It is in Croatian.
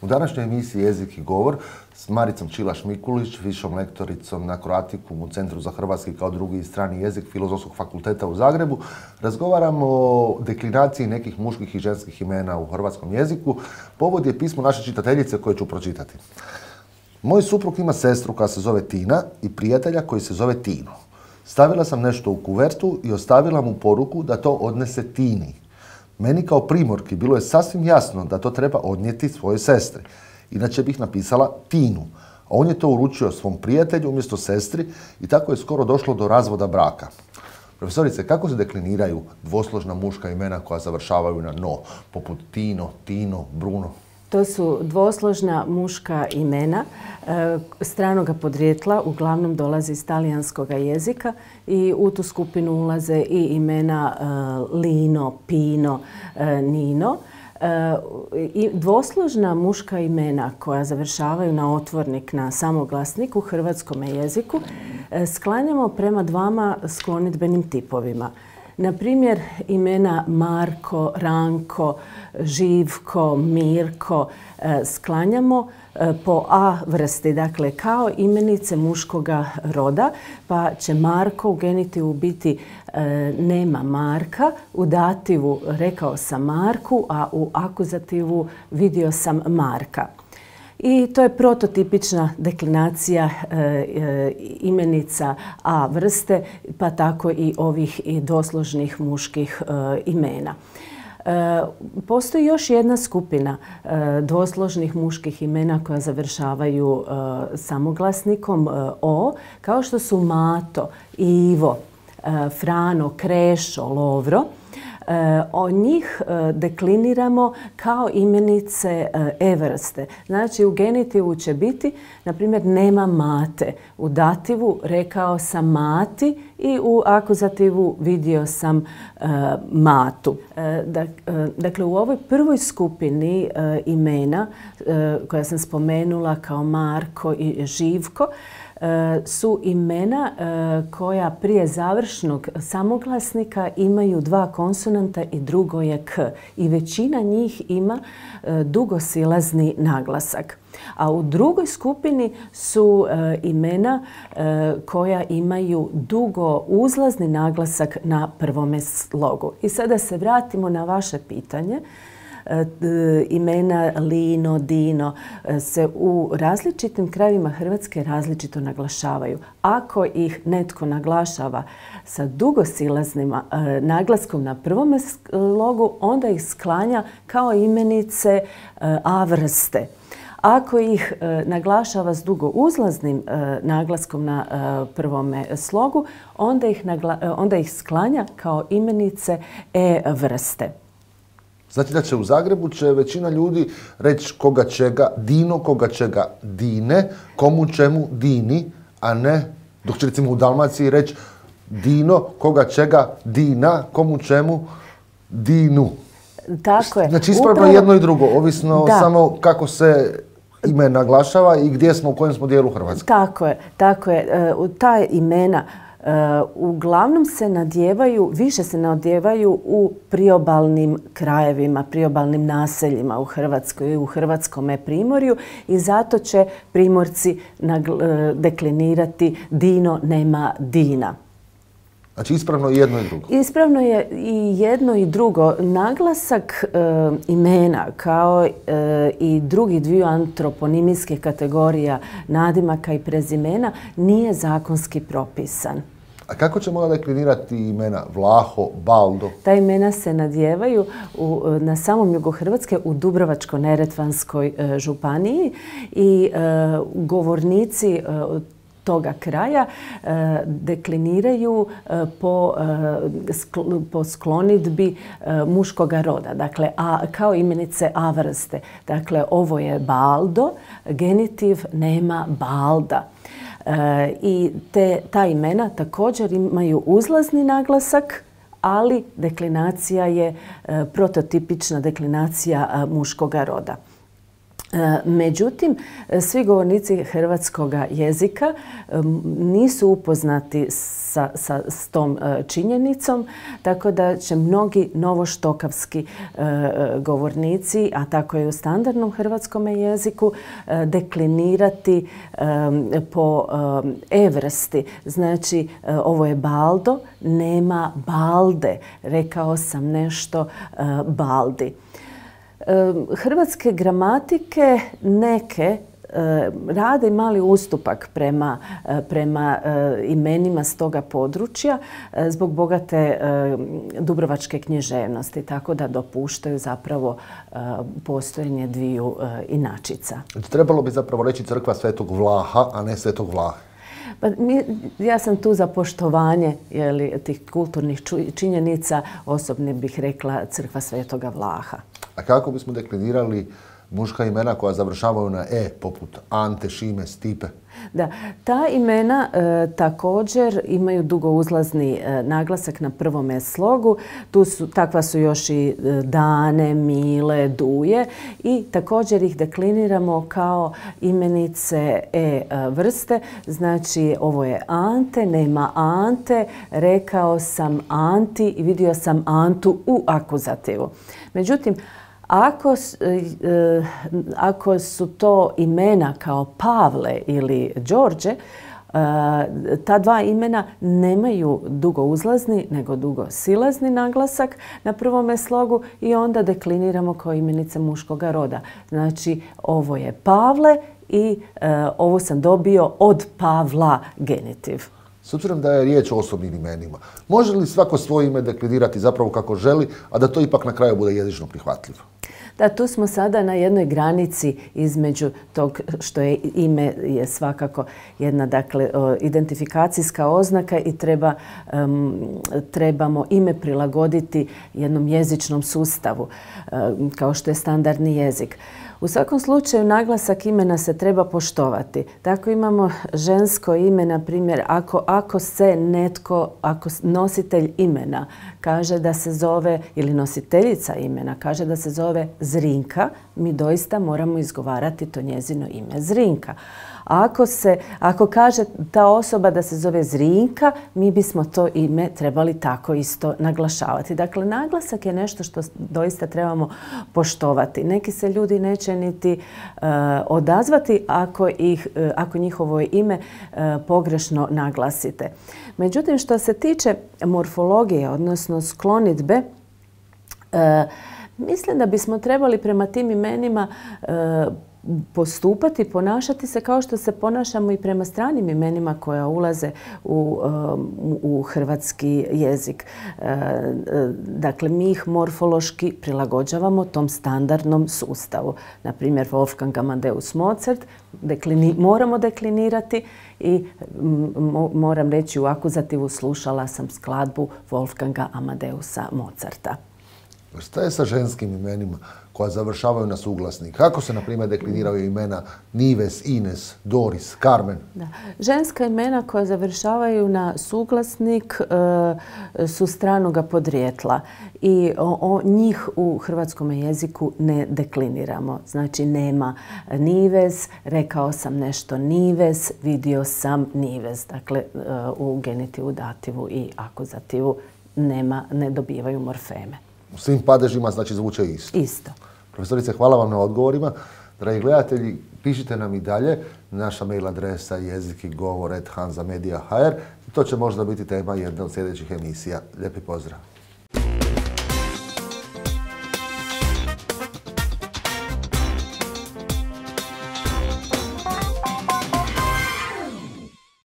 U današnjoj emisiji Jezik i govor s Maricom Čilaš-Mikulić, višom lektoricom na Croaticum u Centru za hrvatski kao drugi i strani jezik Filozofskog fakulteta u Zagrebu, razgovaramo o deklinaciji nekih muških i ženskih imena u hrvatskom jeziku. Povod je pismo naše čitateljice koje ću pročitati. Moj suprug ima sestru koja se zove Tina i prijatelja koji se zove Tino. Stavila sam nešto u kuvertu i ostavila mu poruku da to odnese Tini. Meni kao primorki bilo je sasvim jasno da to treba odnijeti svojoj sestri. Inače bih napisala Tinu. A on je to uručio svom prijatelju umjesto sestri i tako je skoro došlo do razvoda braka. Profesorice, kako se dekliniraju dvosložna muška imena koja završavaju na no, poput Tino, Tino, Bruno? To su dvosložna muška imena stranoga podrijetla, uglavnom dolaze iz talijanskog jezika i u tu skupinu ulaze i imena Lino, Pino, Nino. Dvosložna muška imena koja završavaju na otvornik, na samoglasnik u hrvatskom jeziku sklanjamo prema dvama sklonidbenim tipovima. Na primjer, imena Marko, Ranko, Živko, Mirko sklanjamo po A vrsti, dakle kao imenice muškoga roda, pa će Marko u genitivu biti nema Marka, u dativu rekao sam Marku, a u akuzativu vidio sam Marka. I to je prototipična deklinacija imenica A vrste, pa tako i ovih dvosložnih muških imena. Postoji još jedna skupina dvosložnih muških imena koja završavaju samoglasnikom O, kao što su Mato, Ivo, Frano, Krešo, Lovro. Od njih dekliniramo kao imenice E vrste. Znači u genitivu će biti, na primjer, nema Mate. U dativu rekao sam Mati i u akuzativu vidio sam Matu. Dakle, u ovoj prvoj skupini imena koja sam spomenula kao Marko i Živko, su imena koja prije završnog samoglasnika imaju dva konsonanta i drugo je K. I većina njih ima dugosilazni naglasak. A u drugoj skupini su imena koja imaju dugo uzlazni naglasak na prvome slogu. I sada se vratimo na vaše pitanje. Imena Lino, Dino se u različitim krajevima Hrvatske različito naglašavaju. Ako ih netko naglašava sa dugosilaznim naglaskom na prvom slogu, onda ih sklanja kao imenice A vrste. Ako ih naglašava s dugouzlaznim naglaskom na prvome slogu, onda ih sklanja kao imenice E vrste. Znači da će u Zagrebu većina ljudi reći koga čega Dino, koga čega Dine, komu čemu Dini, a ne, dok će recimo u Dalmaciji reći Dino, koga čega Dina, komu čemu Dinu. Tako je. Znači ispravno jedno i drugo, ovisno samo kako se ime naglašava i gdje smo, u kojem smo dijelu Hrvatske. Tako je. Ta imena uglavnom se nadjevaju, više se nadjevaju u priobalnim krajevima, priobalnim naseljima u Hrvatskoj i u hrvatskome primorju i zato će primorci deklinirati Dino, nema Dina. Znači ispravno je jedno i drugo. Ispravno je i jedno i drugo. Naglasak imena kao i drugih dviju antroponimijskih kategorija nadimaka i prezimena nije zakonski propisan. A kako ćemo deklinirati imena Vlaho, Baldo? Ta imena se nadjevaju na samom jugu Hrvatske u Dubrovačko-neretvanskoj županiji i govornici toga kraja dekliniraju po sklonidbi muškoga roda, dakle kao imenice A vrste. Dakle, ovo je Baldo, genitiv nema Balda. I ta imena također imaju uzlazni naglasak, ali deklinacija je prototipična deklinacija muškoga roda. Međutim, svi govornici hrvatskog jezika nisu upoznati s tom činjenicom, tako da će mnogi novoštokavski govornici, a tako i u standardnom hrvatskom jeziku, deklinirati po e-vrsti. Znači, ovo je baldo, nema balde. Rekao sam nešto baldi. Hrvatske gramatike neke rade mali ustupak prema imenima s toga područja zbog bogate dubrovačke književnosti, tako da dopuštaju zapravo postojanje dviju inačica. Trebalo bi zapravo reći crkva Svetog Vlaha, a ne Svetog Vlahe. Pa ja sam tu za poštovanje tih kulturnih činjenica, osobno bih rekla crkva Svetoga Vlaha. A kako bismo deklinirali muška imena koja završavaju na e, poput Ante, Šime, Stipe? Da, ta imena također imaju dugouzlazni naglasak na prvome slogu. Takva su još i Dane, Mile, Duje i također ih dekliniramo kao imenice e vrste. Znači, ovo je Ante, nema Ante, rekao sam Anti i vidio sam Antu u akuzativu. Međutim, ako su to imena kao Pavle ili Đorđe, ta dva imena nemaju dugouzlazni nego dugosilazni naglasak na prvome slogu i onda dekliniramo kao imenice muškoga roda. Znači, ovo je Pavle i ovo sam dobio od Pavla genitiv. S obzirom da je riječ o osobnim imenima, može li svako svoje ime deklinirati zapravo kako želi, a da to ipak na kraju bude jezično prihvatljivo? Da, tu smo sada na jednoj granici između tog što je ime je svakako jedna identifikacijska oznaka i trebamo ime prilagoditi jednom jezičnom sustavu kao što je standardni jezik. U svakom slučaju naglasak imena se treba poštovati. Tako imamo žensko ime, na primjer, ako nositelj imena kaže da se zove, ili nositeljica imena kaže da se zove Zrinka, mi doista moramo izgovarati to njezino ime Zrinka. Ako kaže ta osoba da se zove Zrinka, mi bismo to ime trebali tako isto naglašavati. Dakle, naglasak je nešto što doista trebamo poštovati. Neki se ljudi neće niti odazvati ako njihovo ime pogrešno naglasite. Međutim, što se tiče morfologije, odnosno sklonidbe, mislim da bismo trebali prema tim imenima postupati, ponašati se kao što se ponašamo i prema stranim imenima koja ulaze u hrvatski jezik. Dakle, mi ih morfološki prilagođavamo tom standardnom sustavu. Na primjer, Wolfgang Amadeus Mozart moramo deklinirati i moram reći u akuzativu slušala sam skladbu Wolfganga Amadeusa Mozarta. Šta je sa ženskim imenima koja završavaju na suglasnik? Kako se, na primjer, dekliniraju imena Nives, Ines, Doris, Carmen? Da. Ženska imena koja završavaju na suglasnik su stranoga podrijetla i njih u hrvatskom jeziku ne dekliniramo. Znači, nema Nives, rekao sam nešto Nives, vidio sam Nives. Dakle, u genitivu, dativu i akuzativu ne dobivaju morfeme. U svim padežima znači zvuče isto. Isto. Profesorice, hvala vam na odgovorima. Dragi gledatelji, pišite nam i dalje. Naša mail adresa je jezik-i-govor@hanzamedia.hr. To će možda biti tema jedne od sljedećih emisija. Lijepi pozdrav.